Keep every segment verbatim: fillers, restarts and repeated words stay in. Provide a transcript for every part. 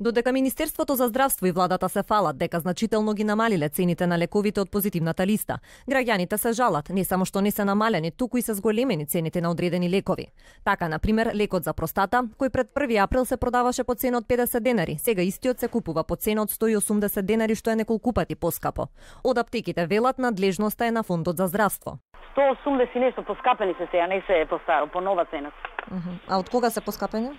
Додека Министерството за здравство и владата се фалат дека значително ги намалиле цените на лековите од позитивната листа, граѓаните се жалат не само што не се намалени, туку и се зголемени цените на одредени лекови. Така, на пример, лекот за простата, кој пред први април се продаваше по цена од педесет денари, сега истиот се купува по цена од сто и осумдесет денари, што е неколку пати поскапо. Од аптеките велат надлежноста е на Фондот за здравство. сто и осумдесет и нешто поскапени се сега, не се е по старо, по нова цена. Uh -huh. А од кога се поскапени?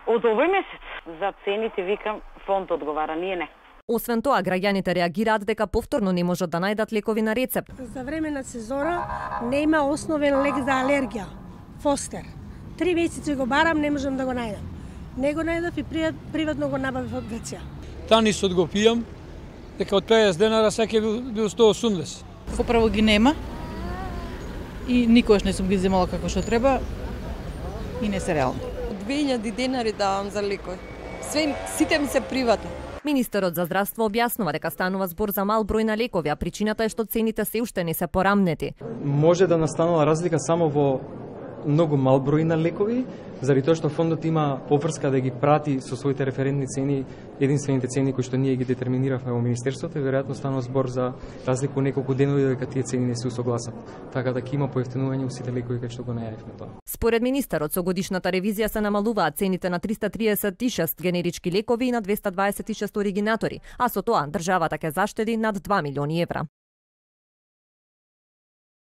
Од овој месец. За цените, викам, фонд одговара, ние не. Освен тоа, граѓаните реагираат дека повторно не можат да најдат лекови на рецепт. За време на сезона нема основен лек за алергија, Фостер. Три месеци го барам, не можам да го најдам. Не го најдав и приватно го набавив од Грција. Танисот го пијам, дека од педесет денара секој бил, бил сто и осумдесет. Поправо ги нема и никогаш не сум ги земала како што треба и не се реално. две илјади денари давам за лекови. Све, сите ми се приватно. Министерот за здравство објаснува дека станува збор за мал број на лекови, а причината е што цените се уште не се порамнети. Може да настанува разлика само во многу мал број на лекови, заради тоа што фондот има поврска да ги прати со своите референтни цени, единствените цени кои што ние ги детерминиравме во Министерството, и веројатно станува збор за разлику неколку денови дека тие цени не се усогласат. Така да ќе има поевтинување во сите лекови кај што го најавивме тоа. Според министерот, со годишната ревизија се намалуваат цените на триста триесет и шест генерички лекови и на двеста дваесет и шест оригинатори, а со тоа државата ќе заштеди над два милиони евра.